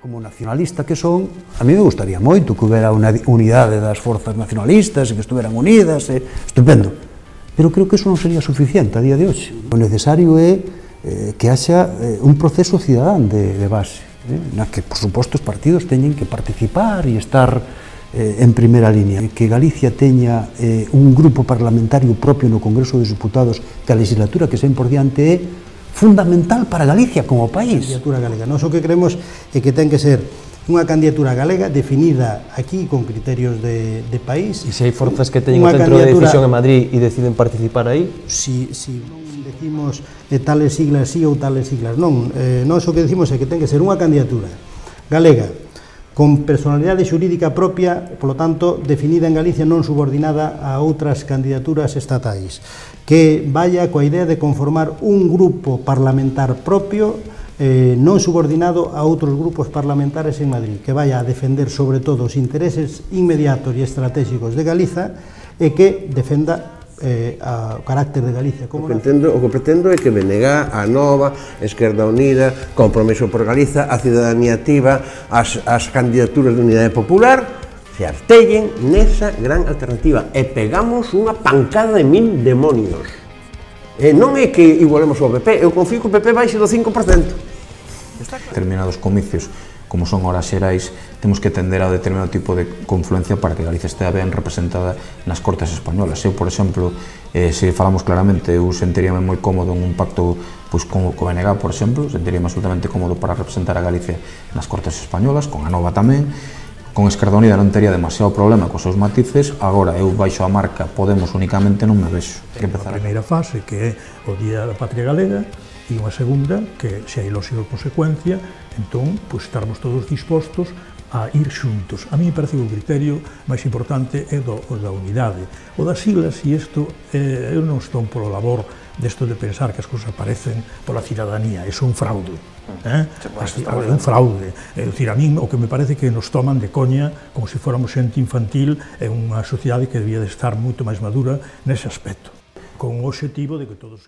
Como nacionalista que son, a mí me gustaría moito que houbera unha unidade das forzas nacionalistas e que estuveran unidas, estupendo. Pero creo que eso non sería suficiente a día de hoxe. O necesario é que haxa un proceso cidadán de base, na que, por suposto, os partidos teñen que participar e estar en primeira línea. Que Galicia teña un grupo parlamentario propio no Congreso dos Diputados, que a legislatura que sen por diante é fundamental para Galicia como país. Candidatura galega. Nós o que creemos é que ten que ser unha candidatura galega definida aquí con criterios de país. E se hai forzas que teñen o centro de decisión en Madrid e deciden participar aí? Si non decimos tales siglas sí ou tales siglas non. Nós o que decimos é que ten que ser unha candidatura galega con personalidade xurídica propia, polo tanto, definida en Galicia, non subordinada a outras candidaturas estatais, que vaya coa idea de conformar un grupo parlamentar propio, non subordinado a outros grupos parlamentares en Madrid, que vaya a defender sobre todo os intereses inmediatos e estratégicos de Galiza e que defenda o carácter de Galicia como o que pretendo é que BNG, a Nova, Esquerda Unida, Compromiso por Galiza, a Ciudadanía Activa, as candidaturas de Unidade Popular se artellen nesa gran alternativa e pegamos unha pancada de 1000 demonios. Non é que igualemos ao PP, eu confío que o PP baixe do 5%. Determinados comicios, como son horas xerais, temos que tender a determinado tipo de confluencia para que Galicia estea ben representada nas Cortes españolas. Eu, por exemplo, se falamos claramente, eu sentiríame moi cómodo en un pacto con o BNG, por exemplo, sentiríame absolutamente cómodo para representar a Galicia nas Cortes españolas, con a Nova tamén. Con Esquerda Unida non tería demasiado problema cos seus matices, agora eu baixo a marca Podemos únicamente non me vexo. A primeira fase, que é o Día da Patria Galega, e unha segunda, que se hai lógica consecuencia, entón, estarmos todos dispostos a ir xuntos. A mí me parece que o criterio máis importante é o da unidade. O das siglas, e isto, eu non estou polo labor desto de pensar que as cousas aparecen pola cidadanía, é un fraude. É un fraude. É dicir, a mí o que me parece que nos toman de coña como se fóramos xente infantil en unha sociedade que debía de estar moito máis madura nese aspecto, con o obxectivo de que todos...